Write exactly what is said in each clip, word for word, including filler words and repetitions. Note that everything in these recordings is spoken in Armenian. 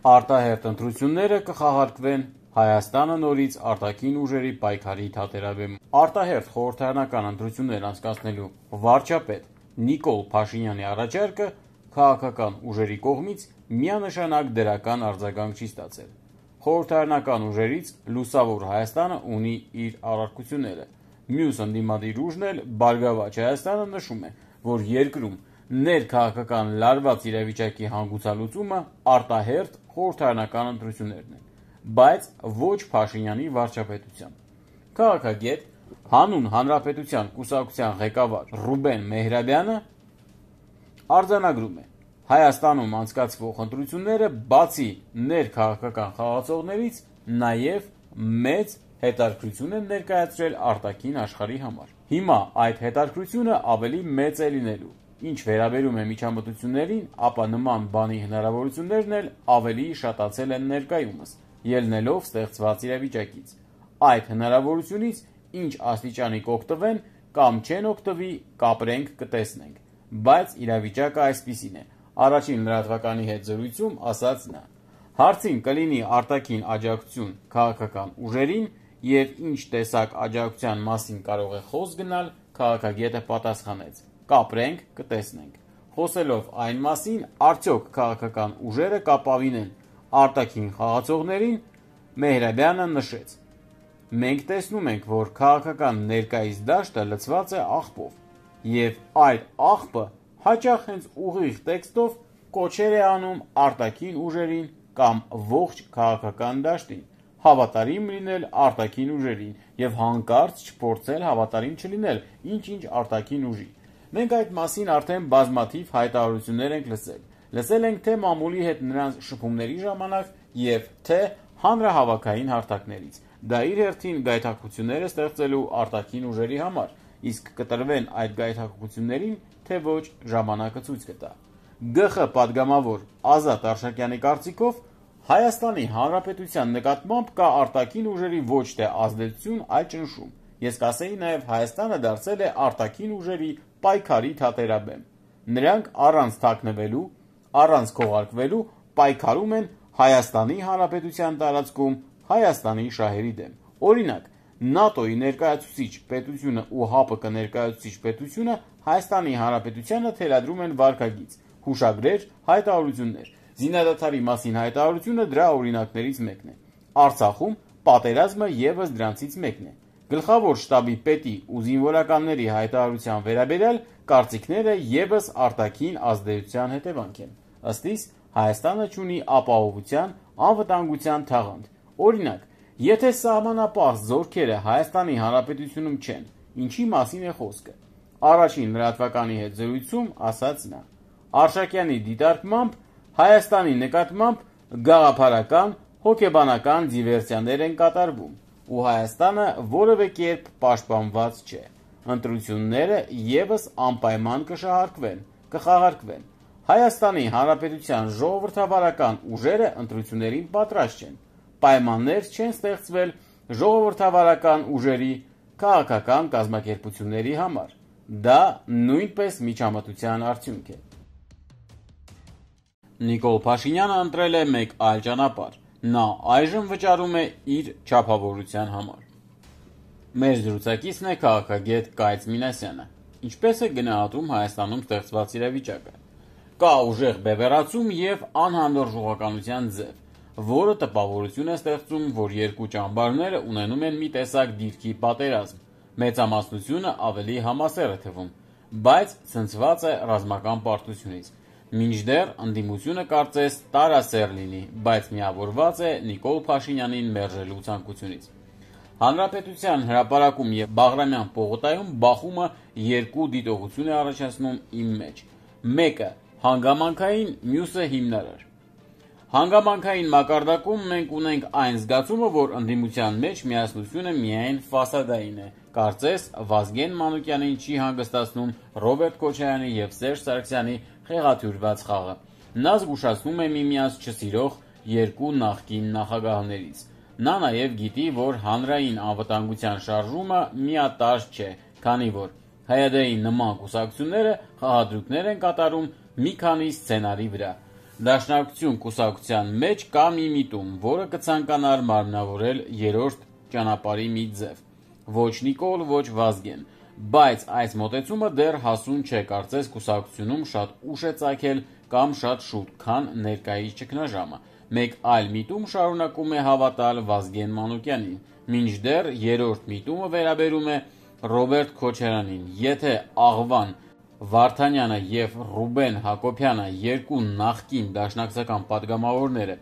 Արտահերթ ընտրությունները կխաղարկվեն Հայաստանը նորից արտաքին ուժերի պայքարի թատերաբեմում։ Արտահերթ խորհրդարանական ընտրություններ անցկացնելու վարչապետ Նիկոլ Փաշինյանի առաջարկը քաղաքական ուժերի կողմից միանշանակ դրական արձագանք չի ստացել։ Խորհրդարանական ուժերից Լուսավոր Հայաստանը ունի իր առարկությունները։ Մյուս ընդդիմադիր ուժն էլ Բարգավաճ Հայաստանը նշում է, որ երկրում ներքաղաքական լարված իրավիճակի հանգուցալուծումը արտահերթ խորհրդարանական ընտրություններն են, բայց ոչ Փաշինյանի վարչապետությամբ։ Քաղաքագետ, Հանուն Հանրապետության կուսակցության ղեկավար Ռուբեն Մեհրաբյանը արձանագրում է. Հայաստանում անցկացվող ընտրությունները բացի ներքաղաքական խաղացողներից նաև մեծ հետաքրքրություն են ներկայացրել արտաքին աշխարհի համար։ Հիմա այդ հետաքրքրությունը ավելի մեծ է լինելու։ Ինչ վերաբերում է միջամտություններին, ապա նման բանի հնարավորություններն էլ ավելի շատացել են ներկայումս, ելնելով ստեղծված իրավիճակից։ Այդ հնարավորությունից ինչ աստիճանի կօգտվեն կամ չեն օգտվի, կապրենք, կտեսնենք, բայց իրավիճակը այսպիսին է, առաջին լրատվականի հետ զրույցում ասաց նա։ Հարցին կլինի արտաքին աջակցություն քաղաքական ուժերին եւ ինչ տեսակ աջակցության մասին կարող է խոսք գնալ, քաղաքագետը պատասխանեց. կապրենք, կտեսնենք։ Խոսելով այն մասին, արդյոք քաղաքական ուժերը կապավինեն արտաքին խաղացողներին, Մեհրաբյանը նշեց. Մենք տեսնում ենք, որ քաղաքական ներկայիս դաշտը լցված է աղբով, եւ այդ աղբը հաճախ հենց ուղիղ տեքստով կոչեր է անում արտաքին ուժերին կամ ողջ քաղաքական դաշտին հավատարիմ լինել արտաքին ուժերին եւ հանկարծ չփորձել հավատարիմ չլինել ինչ-ինչ արտաքին ուժի։ Մենք այդ մասին արդեն բազմաթիվ հայտարարություններ ենք լսել։ Լսել ենք թե մամուլի հետ նրանց շփումների ժամանակ եւ թե հանրահավաքային հարթակներից։ Դա իր հերթին գայթակղություններ է ստեղծելու արտաքին ուժերի համար, իսկ կտրվեն այդ գայթակղություններին, թե ոչ ժամանակը ցույց կտա։ ԳԽ պատգամավոր Ազատ Արշակյանի կարծիքով Հայաստանի Հանրապետության նկատմամբ կա արտաքին ուժերի ոչ թե ազդեցություն, այլ ճնշում։ Ես կասեի նաև Հայաստանը դարձել է արտաքին ուժերի պայքարի թատերաբեմ։ Նրանք առանց թաքնվելու, առանց քողարկվելու պայքարում են Հայաստանի Հանրապետության տարածքում Հայաստանի շահերի դեմ։ Օրինակ, ՆԱՏՕ-ի ներկայացուցիչ պետությունը ու ՀԱՊԿ ներկայացուցիչ պետությունը Հայաստանի Հանրապետությանը թելադրում են վարքագիծ, հուշագրեր, հայտարարություններ։ Զինադադարի մասին հայտարարությունը դրա օրինակներից մեկն է։ Արցախում պատերազմը եւս դրանցից մեկն է։ Գլխավոր շտաբի պետի ու զինվորականների հայտարարության վերաբերյալ կարծիքները եւս արտաքին ազդեցության հետևանք են։ Ըստ իս, Հայաստանը ունի ապահովության, անվտանգության թաղանթ։ Օրինակ, եթե սահմանապահ զորքերը Հայաստանի Հանրապետությունում չեն, ինչի մասին է խոսքը։ Առաջին լրատվականի հետ զրույցում ասաց նա. Արշակյանի դիտարկմամբ Հայաստանի նկատմամբ գաղափարական, հոգեբանական դիվերսիաներ են կատարվում, ու Հայաստանը որևէ կերպ պաշտպանված չէ։ Ընտրությունները եւս անպայման կշահարկվեն, կխաղարկվեն։ Հայաստանի Հանրապետության ժողովրդավարական ուժերը ընտրություններին պատրաստ չեն։ Պայմաններ չեն ստեղծվել ժողովրդավարական ուժերի քաղաքական կազմակերպությունների համար։ Դա նույնպես միջամտության արդյունք է։ Նիկոլ Փաշինյանը ընտրել է մեկ այլ ճանապարհ։ Նա այժմ վճարում է իր չափավորության համար։ Մեր զրուցակիցն է քաղաքագետ Կայծ Մինասյանը։ Ինչպես է գնահատում Հայաստանում ստեղծված իրավիճակը։ Կա ուժեղ բևեռացում եւ անհանդուրժողականության ձև, որը տպավորություն է ստեղծում, որ երկու ճամբարները ունենում են մի տեսակ դիրքի պատերազմ։ Մեծամասնությունը ավելի համասեռ է թվում, բայց ցնցված է ռազմական պարտությունից։ Մինչդեռ ընդդիմությունը կարծես տարասեռ լինի, բայց միավորված է Նիկոլ Փաշինյանին մերժելու ցանկությունից։ Հանրապետության հրապարակում եւ Բաղրամյան պողոտայում բախումը երկու դիտողություն է առաջացնում իմ մեջ։ Մեկը հանգամանքային, մյուսը հիմնարար։ Հանգամանքային մակարդակում մենք ունենք այն զգացումը, որ ընդդիմության մեջ միասնությունը միայն ֆասադային է։ Կարծես Վազգեն Մանուկյանին չի հանգստացնում Ռոբերտ Քոչարյանի եւ Սերժ Սարգսյանի խեղաթյուրված խաղը։ Նա զգուշացնում է միմյանց չսիրող երկու նախկին նախագահներից։ Նա նաև գիտի, որ հանրային անվտանգության շարժումը միատարր չէ, քանի որ ՀՅԴ-ի նման կուսակցությունները խաղադրույքներ են կատարում մի քանի սցենարի վրա։ Դաշնակցություն կուսակցության մեջ կա մի միտում, որը կցանկանար մարմնավորել երրորդ ճանապարհի մի ձև։ Ոչ Նիկոլ, ոչ Վազգեն, բայց այս մոտեցումը դեռ հասուն չէ, կարծես կուսակցությունում շատ ուշ է ծագել կամ շատ շուտ, քան ներկայիս ճգնաժամը։ Մեկ այլ միտում շարունակում է հավատալ Վազգեն Մանուկյանին, մինչդեռ երրորդ միտումը վերաբերում է Ռոբերտ Քոչարյանին։ Եթե Աղվան Վարդանյանը և Ռուբեն Հակոբյանը, երկու նախկին դաշնակցական պատգամավորները,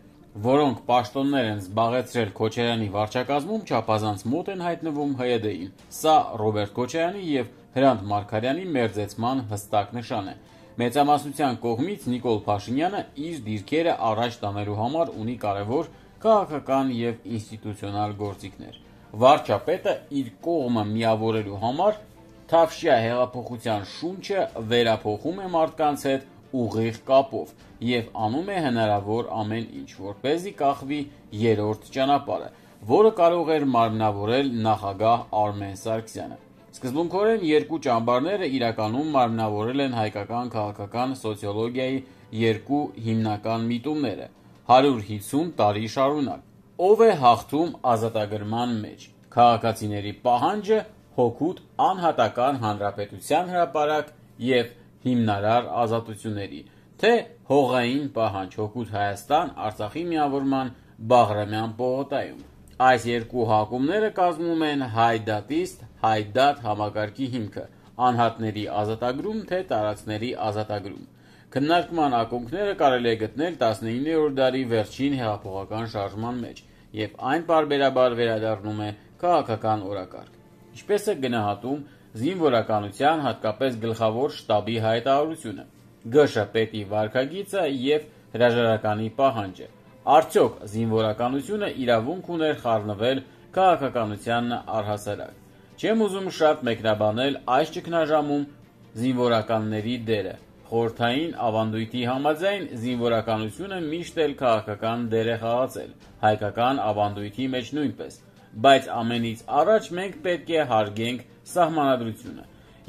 որոնք պաշտոններ են զբաղեցրել Քոչարյանի վարչակազմում, չափազանց մոտ են հայտնվում ՀՅԴ-ին, սա Ռոբերտ Քոչարյանի և Հրանտ Մարգարյանի մերձեցման հստակ նշան է։ Մեծամասնության կողմից Նիկոլ Փաշինյանը իր դիրքերը առաջ տանելու համար ունի կարևոր քաղաքական և ինստիտուցիոնալ գործիքներ։ Վարչապետը իր կողմը միավորելու համար Թավշյա հեղափոխության շունչը վերափոխում է մարդկանց հետ ուղիղ կապով և անում է հնարավոր ամեն ինչ, որպեսզի կախվի երրորդ ճանապարհը, որը կարող էր մարմնավորել նախագահ Արմեն Սարգսյանը։ Սկզբունքորեն երկու ճամբարները իրականում մարմնավորել են հայկական քաղաքական սոցիոլոգիայի երկու հիմնական միտումները հարյուր հիսուն տարի շարունակ։ Ով է հաղթում ազատագրման մեջ՝ քաղաքացիների պահանջը հօգուտ անհատական հանրապետության հրապարակ և հիմնարար ազատությունների, թե հողային պահանջ հօգուտ Հայաստան Արցախի միավորման Բաղրամյան պողոտայում։ Այս երկու հակումները կազմում են հայ-դատիստ հայ-դատ համակարգի հիմքը՝ անհատների ազատագրում, թե տարածքների ազատագրում։ Քննարկման ակունքները կարելի է գտնել տասնիններորդ դարի վերջին հեղափոխական շարժման մեջ, և այն պարբերաբար վերադառնում է քաղաքական օրակարգ։ Ինչպես է գնահատում զինվորականության, հատկապես գլխավոր շտաբի հայտարարությունը, ԳՇ պետի վարքագիծը և հրաժարականի պահանջը։ Արդյոք զինվորականությունը իրավունք ուներ խառնվել քաղաքականությանն առհասարակ։ Չեմ ուզում շատ մեկնաբանել այս ճգնաժամում զինվորականների դերը։ Խորհրդային ավանդույթի համաձայն զինվորականությունը միշտ էլ քաղաքական դեր է խաղացել, հայկական ավանդույթի մեջ նույնպես, բայց ամենից առաջ մենք պետք է հարգենք սահմանադրությունը։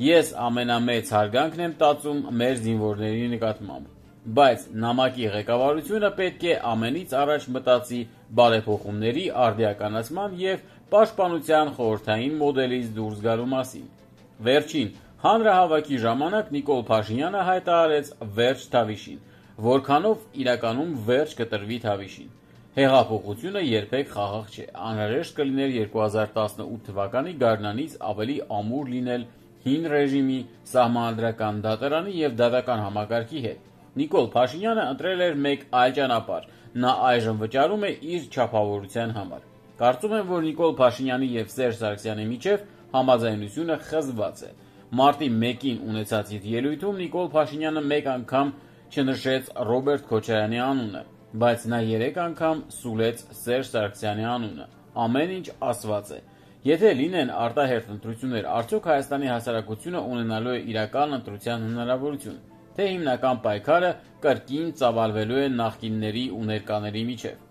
Ես ամենամեծ հարգանքն եմ տածում մեր զինվորների նկատմամբ, բայց նամակի ղեկավարությունը պետք է ամենից առաջ մտածի բարեփոխումների արդիականացման և պաշտպանության խորհրդային մոդելից դուրս գալու մասին։ Վերջին հանրահավաքի ժամանակ Նիկոլ Փաշինյանը հայտարարեց վերջ Թավիշին, որքանով իրականում վերջ կտրվի Թավիշին։ Հեղափոխությունը երբեք խաղաղ չէ, անհրաժեշտ կլիներ երկու հազար տասնութ թվականի գարնանից ավելի ամուր լինել հին ռեժիմի, սահմանադրական դատարանի և դատական համակարգի հետ։ Նիկոլ Փաշինյանը ընտրել էր մեկ այլ ճանապարհ, նա այժմ վճարում է իր չափավորության համար։ Կարծում եմ, որ Նիկոլ Փաշինյանի և Սերժ Սարգսյանի միջև համաձայնությունը խզված է։ Մարտի մեկին ունեցած իր ելույթում Նիկոլ Փաշինյանը մեկ անգամ չնշեց Ռոբերտ Քոչարյանի անունը, բայց նա երեք անգամ սուլեց Սերժ Սարգսյանի անունը։ Ամեն ինչ ասված է։ Եթե լինեն արտահերթ ընտրություններ, արդյոք Հայաստանի հասարակությունը ունենալու է իրական ընտրության հնարավորություն, թե հիմնական պայքարը կրկին ծավալվելու է նախկինների ու ներկաների միջև։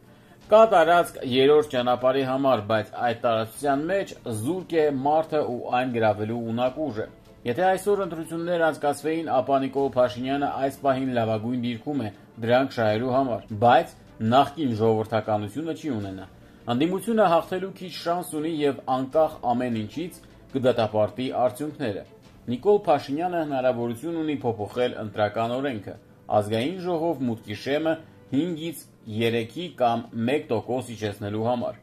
Կա տարածք երրորդ ճանապարհի համար, բայց այդ տարածության մեջ զուրկ է մարդը ու այն գրավելու ունակ ուժը։ Եթե այսօր ընտրություններ անցկացվեին, ապա Նիկոլ Փաշինյանը այս պահին լավագույն դիրքում է դրանք շահելու համար, բայց նախկին ժողովրդականությունը չի ունենա։ Ընդդիմությունը հաղթելու քիչ շանս ունի և անկախ ամեն ինչից կդատապարտի արդյունքները։ Նիկոլ Փաշինյանը հնարավորություն ունի փոփոխել ընտրական օրենքը, ազգային ժողով մուտքի շեմը հինգից երեքի կամ մեկ տոկոս իջեցնելու համար։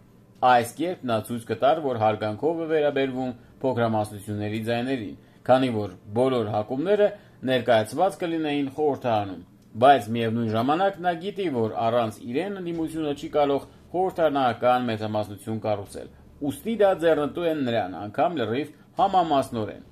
Այս կերպ նա ցույց կտար, որ հարգանքով է վերաբերվում փոքրամասնությունների ձայներին, քանի որ բոլոր հակումները ներկայացված կլինեին խորհրդարանում, բայց միևնույն ժամանակ նա գիտի, որ առանց իրեն ընդդիմությունը չի կարող խորհրդարանական մեծամասնություն կառուցել, ուստի դա ձեռնտու է նրան, անգամ լրիվ համամասնորեն։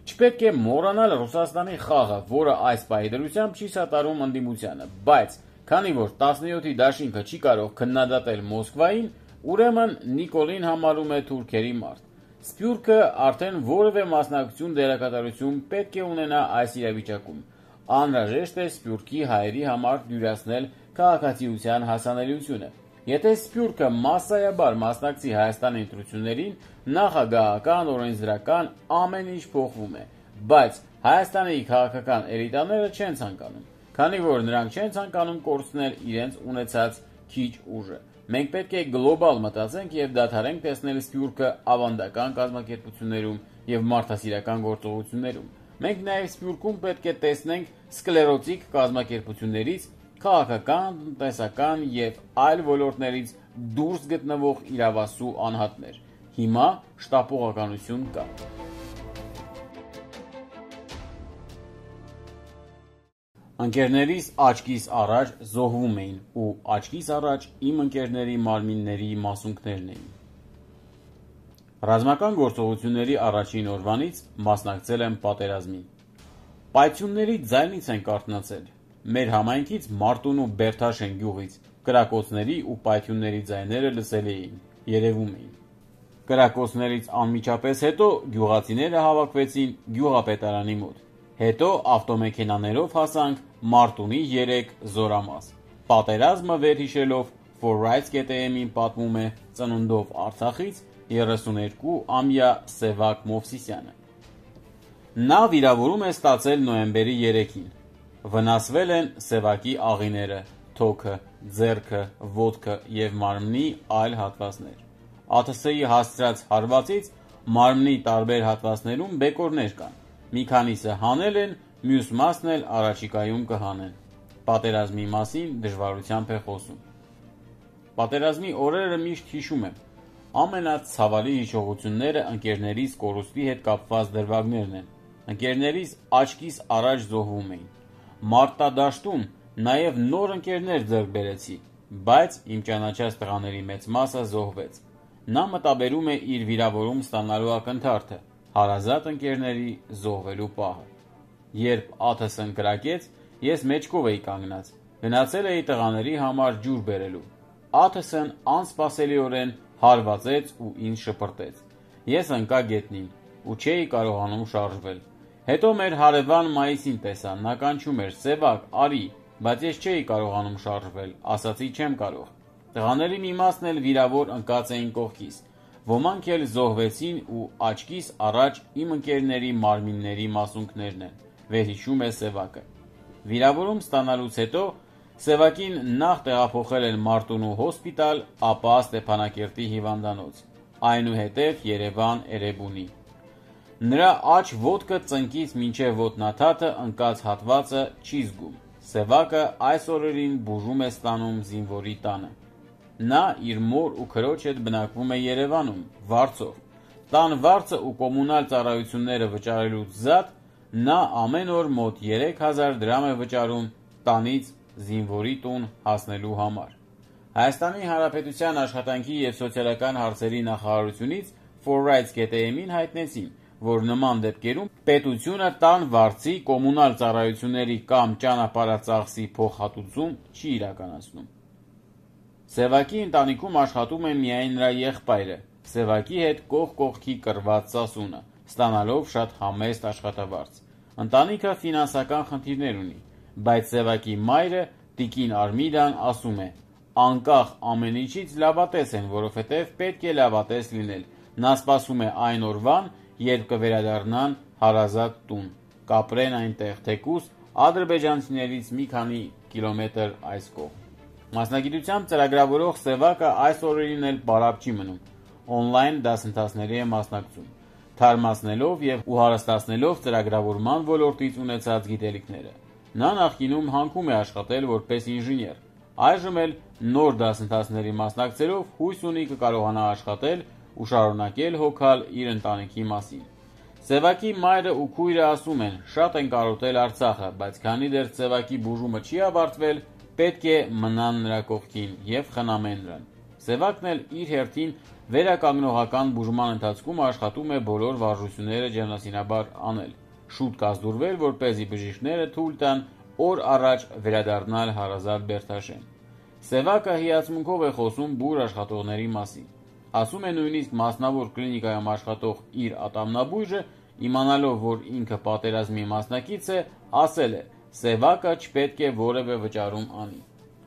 Չպետք է մոռանալ Ռուսաստանի խաղը, որը այս պահի դրությամբ չի սատարում ընդդիմությանը, բայց քանի որ տասնյոթի դաշինքը չի կարող քննադատել Մոսկվային, ուրեմն Նիկոլին համարում է թուրքերի մարդ։ Սփյուռքը արդեն որևէ մասնակցություն դերակատարություն պետք է ունենա այս իրավիճակում։ Անհրաժեշտ է Սփյուռքի հայերի համար դյուրացնել քաղաքացիության հասանելիությունը։ Եթե Սփյուռքը մասսայաբար մասնակցի Հայաստանի ընտրություններին, նախագահական, օրենսդրական ամեն ինչ փոխվում է, բայց Հայաստանի քաղաքական էլիտաները չեն ցանկանում։ քանի որ նրանք չեն ցանկանում կորցնել իրենց ունեցած քիչ ուժը։ Մենք պետք է գլոբալ մտածենք եւ դադարենք տեսնել Սփյուռքը ավանդական կազմակերպություններում եւ մարդասիրական գործողություններում։ Մենք նաեւ Սփյուռքում պետք է տեսնենք սկլերոտիկ կազմակերպություններից քաղաքական, տնտեսական եւ այլ ոլորտներից դուրս գտնվող իրավասու անհատներ։ Հիմա շտապողականություն կա։ Ընկերներիս աչքիս առաջ զոհվում էին ու աչքիս առաջ իմ ընկերների մարմինների մասունքներն էին։ Ռազմական գործողությունների առաջին օրվանից մասնակցել եմ պատերազմին։ Պայթյունների ձայնից ենք արթնացել։ Մեր համայնքից Մարտունու Բերթաշեն գյուղից կրակոցների ու պայթյունների ձայները լսելի էին, երևում էին։ Կրակոցներից անմիջապես հետո գյուղացիները հավաքվեցին գյուղապետարանի մոտ։ Հետո ավտոմեքենաներով հասանք Մարտունի երեք զորամաս։ Պատերազմը վերհիշելով ForRights.am-ին պատմում է ծնունդով Արցախից երեսուներկուամյա Սևակ Մովսիսյանը։ Նա վիրավորում է ստացել նոյեմբերի երեքին։ Վնասվել են Սևակի աղիները, թոքը, ձեռքը, ոտքը եւ մարմնի այլ հատվածներ։ ԱԹՍ-ի հասցրած հարվածից մարմնի տարբեր հատվածներում բեկորներ կան։ Մի քանիսը հանել են, մյուս մասն էլ առաջիկայում կհանեն։ Պատերազմի մասին դժվարությամբ է խոսում։ Պատերազմի օրերը միշտ հիշում եմ։ Ամենացավալի հիշողությունները ընկերներիս կորուստի հետ կապված դրվագներն են։ Ընկերներիս աչքիս առաջ զոհվում էին։ Մարտադաշտում նաև նոր ընկերներ ձեռք բերեցի, բայց իմ ճանաչած տղաների մեծ մասը զոհվեց։ Նա մտաբերում է իր վիրավորում ստանալու ակնթարթը, հարազատ ընկերների զոհվելու պահը։ Երբ ԱԹՍ-ն կրակեց, ես մեջքով էի կանգնած, գնացել էի տղաների համար ջուր բերելու։ ԱԹՍ-ն անսպասելիորեն հարվածեց ու ինձ շպրտեց։ Ես ընկա գետնին ու չէի կարողանում շարժվել։ Հետո մեր հարևան Մայիսին տեսա, նա կանչում էր «Սևակ, արի», բայց ես չէի կարողանում շարժվել, ասացի չեմ կարող։ Տղաների մի մասն էլ վիրավոր ընկած էին կողքիս։ Ոմանք էլ զոհվեցին ու աչքիս առաջ իմ ընկերների մարմինների մասունքներն են, վերհիշում է Սևակը։ Վիրավորում ստանալուց հետո Սևակին նախ տեղափոխել են Մարտունու հոսպիտալ, ապա Ստեփանակերտի հիվանդանոց, այնուհետև Երևան Էրեբունի։ Նրա աջ ոտքը ծնկից մինչև ոտնաթաթը ընկած հատվածը չի զգում։ Սևակը այս օրերին բուժում է ստանում զինվորի տանը։ Նա իր մոր ու քրոջ հետ բնակվում է Երևանում, վարձով։ Տան վարձը ու կոմունալ ծառայությունները վճարելուց զատ նա ամեն օր մոտ երեք հազար դրամ է վճարում տանից զինվորի տուն հասնելու համար։ Հայաստանի Հանրապետության աշխատանքի և սոցիալական հարցերի նախարարությունից ForRights.am-ին հայտնեցին, որ նման դեպքերում պետությունը տան վարձի, կոմունալ ծառայությունների կամ ճանապարհածախսի փոխհատուցում չի իրականացնում։ Սևակի ընտանիքում աշխատում է միայն նրա եղբայրը, Սևակի հետ կողք կողքի կռված Սասունը, ստանալով շատ համեստ աշխատավարձ։ Ընտանիքը ֆինանսական խնդիրներ ունի, բայց Սևակի մայրը տիկին Արմիդան ասում է. անկախ ամեն ինչից լավատես են, որովհետև պետք է լավատես լինել։ Նա սպասում է այն օրվան, երբ կվերադառնան հարազատ տուն, կապրեն այնտեղ, թեկուզ ադրբեջանցիներից մի քանի կիլոմետր այս կողմ։ Մասնագիտությամբ ծրագրավորող Սևակը այս օրերին էլ պարապ չի մնում, օնլայն դասընթացների է մասնակցում, թարմացնելով և ու հարստացնելով ծրագրավորման ոլորտից ունեցած գիտելիքները։ Նա նախկինում հանքում է աշխատել որպես ինժեներ, այժմ էլ նոր դասընթացների մասնակցելով հույս ունի կկարողանա աշխատել ու շարունակել հոգալ իր ընտանիքի մասին։ Սևակի մայրը ու քույրը ասում են, շատ են կարոտել Արցախը, բայց քանի դեռ Սևակի բուժումը չի ավարտվել, պետք է մնան նրա կողքին և խնամեն նրան։ Սևակն էլ իր հերթին վերականգնողական բուժման ընթացքում աշխատում է բոլոր վարժությունները ջանասինաբար անել, շուտ կազդուրվել, որպեսզի բժիշկները թույլ տան օր առաջ վերադառնալ հարազատ Բերթաշեն։ Սևակը հիացմունքով է խոսում բուր աշխատողների մասին։ Ասում է նույնիսկ մասնավոր կլինիկայում աշխատող իր ատամնաբույժը, իմանալով, որ ինքը պատերազմի մասնակից է, ասել է. Սևակը չպետք է որևէ վճարում անի։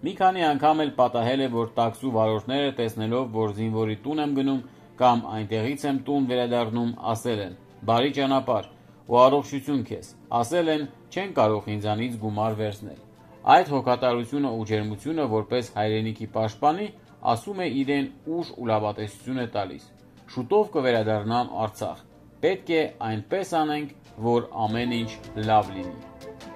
Մի քանի անգամ էլ պատահել է, որ տաքսու վարորդները տեսնելով, որ զինվորի տուն եմ գնում կամ այնտեղից եմ տուն վերադառնում, ասել են. բարի ճանապարհ ու առողջություն քեզ, ասել են չեն կարող ինձանից գումար վերցնել։ Այդ հոգատարությունը ու ջերմությունը որպես հայրենիքի պաշտպանի ասում է իրեն ուժ ու լավատեսություն է տալիս։ Շուտով կվերադառնամ Արցախ։ Պետք է այնպես անենք, որ ամեն ինչ լավ լինի։